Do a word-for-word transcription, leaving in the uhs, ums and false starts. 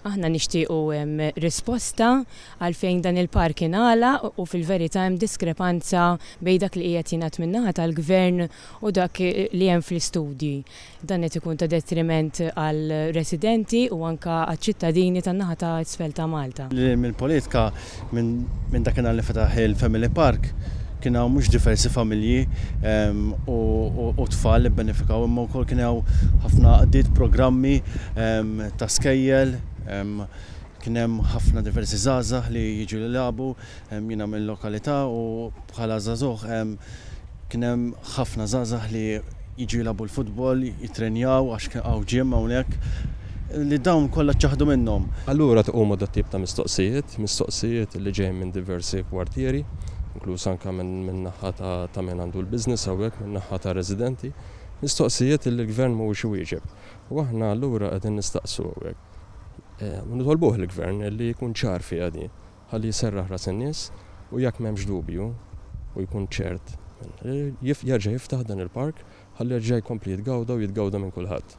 Aħna nixtiequ risposta għalfejn dan il-park ingħalaq u fil-verità hemm diskrepanza bejn dak li qiegħed jingħad min-naħa tal-gvern u dak li hemm fl-istudji. Dan qed ikun ta' detriment għal residenti u anka għaċ-ċittadini tan-naħa ta' isfel ta' Malta. Mill-politika minn dakinhar li fetaħ il-Family Park kien hawn mhux diversi familji u tfal li benefikaw, imma wkoll kien hawn ħafna għaqdiet, programmi ta' skejjel, kien hemm ħafna diversi żgħażagħ li jiġu jilagħbu. Jiena mill-lokalità u bħala żagħżugħ kien hemm ħafna żgħażagħ li jiġu jilagħbu l-futbol, jitrenjaw għax hawn gym hawnhekk li dawn kollha ċaħdu minnhom. Allura tqumu dat-tip ta' mistoqsijiet, mistoqsijiet li ġejjin minn diversi kwartieri, inkluż anke minn naħa ta' min għandu l-business hawnhekk, minn naħa ta' residenti, mistoqsijiet li l-gvern mhuwiex iwieġeb. U aħna allura qegħdin nistaqsu hawnhekk. U nitolbuh il-gvern li jkun ċar fiha din, ħalli jserraħ ras in-nies u jekk m'hemmx dubju u jkun ċert, jerġa' jiftaħ dan il-park ħalli jerġa' jkompli jitgawda u jitgawda minn kulħadd.